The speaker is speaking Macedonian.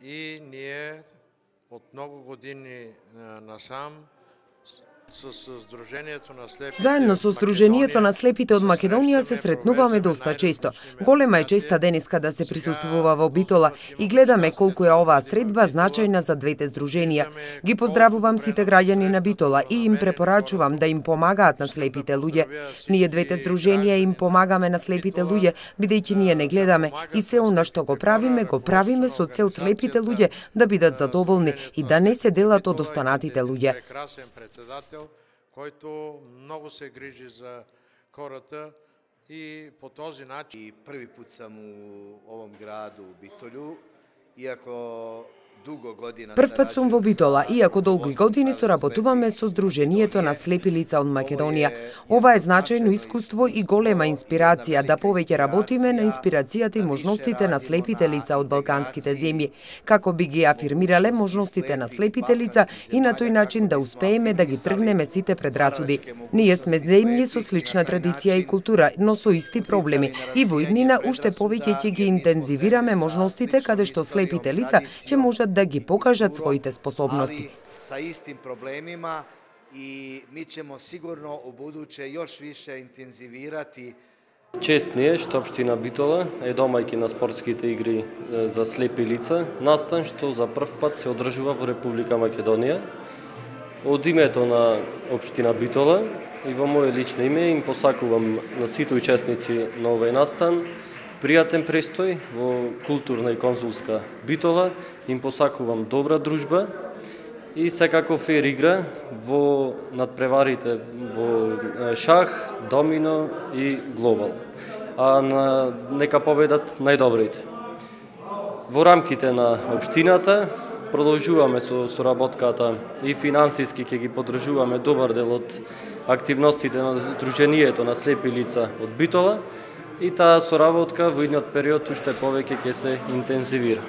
и ние од многу години насам Заедно со Сдруженијето на слепите од Македонија се сретнуваме доста често. Голема е честа денеска да се присуствува во Битола и гледаме колку е оваа средба значајна за двете здруженија. Ги поздравувам сите граѓани на Битола и им препорачувам да им помагаат на слепите луѓе. Ние двете здруженија им помагаме на слепите луѓе, бидејќи ние не гледаме и се она што го правиме со цел слепите луѓе да бидат задоволни и да не се делат од останатите луѓе. Којто многу се грижи за хората и по този начин. И први пут сам у овом граду, у Битолу, иако дуго година Прв пат сум во Битола, иако долги години соработуваме со Сдруженијето на слепи лица од Македонија. Ова е значајно искуство и голема инспирација да повеќе работиме на инспирацијата и можностите на слепите лица од балканските земји, како би ги афирмирале можностите на слепите лица и на тој начин да успееме да ги тргнеме сите предрасуди. Ние сме земји со слична традиција и култура, но со исти проблеми и во иднина уште повеќе ќе ги интензивираме можностите каде што слепите лица ќе можат да ги покажат своите способности. Са истим проблемима и ми ćemo sigurno u buduće još više intenzivирати. Чест ни е што општина Битола е домајки на спортските игри за слепи лица, настан што за прв пат се одржува во Република Македонија. Од името на општина Битола и во моје лично име им посакувам на сите учесници на овој настан пријатен престој во културна и консулска Битола, им посакувам добра дружба и секако фер игра во надпреварите во шах, домино и глобал. Нека победат најдобрите. Во рамките на општината продолжуваме со соработката и финансиски ќе ги поддржуваме добар дел од активностите на Сдруженијето на слепи лица од Битола и таа соработка во идниот период уште повеќе ќе се интензивира.